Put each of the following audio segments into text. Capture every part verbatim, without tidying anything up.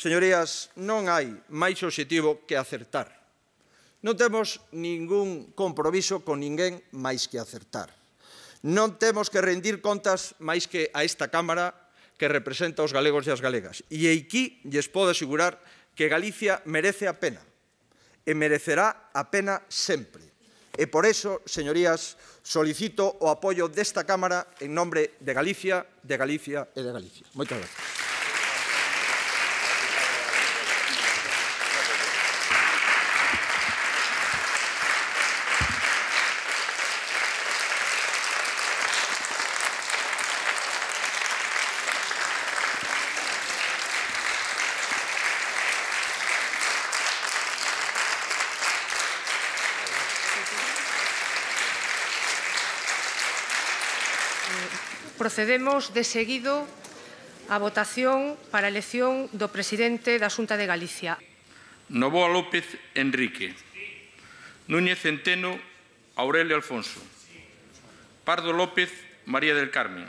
Señorías, non hai máis obxectivo que acertar. Non temos ningún compromiso con ninguén máis que acertar. Non temos que rendir contas máis que a esta Cámara que representa os galegos e as galegas. E aquí lles podo asegurar que Galicia merece a pena e merecerá a pena sempre. E por eso, señorías, solicito o apoio desta Cámara en nombre de Galicia, de Galicia e de Galicia. Moitas gracias. Procedemos de seguido á votación para a elección do presidente da Xunta de Galicia. Novoa López Enrique. Núñez Centeno Aurelio Alfonso. Pardo López María del Carmen.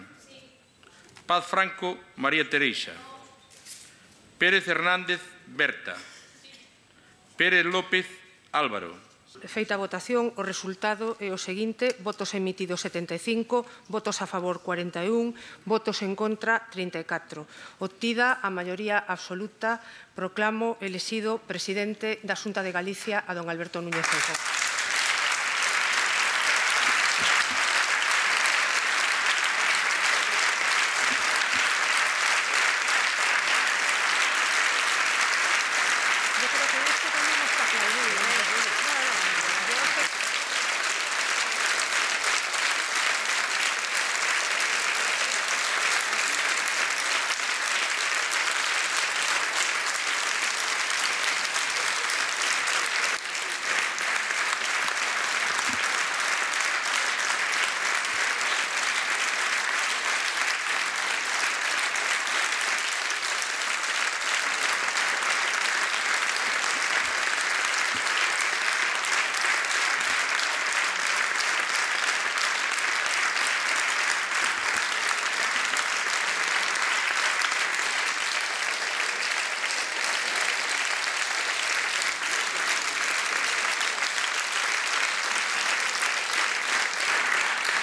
Paz Franco María Teresa. Pérez Hernández Berta. Pérez López Álvaro. Feita a votación, o resultado é o seguinte: votos emitidos setenta e cinco, votos a favor cuarenta e un, votos en contra trinta e catro. Obtida a maioría absoluta, proclamo elixido presidente da Xunta de Galicia a don Alberto Núñez Feijóo.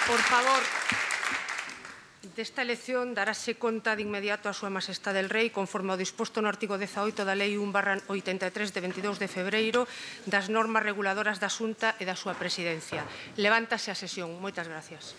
Por favor, desta elección darase conta de inmediato a súa Majestade el Rei, conforme ao disposto no artigo dezaoito da Lei un barra oitenta e tres de veintidós de febreiro das normas reguladoras da Xunta e da súa presidencia. Levántase a sesión. Moitas gracias.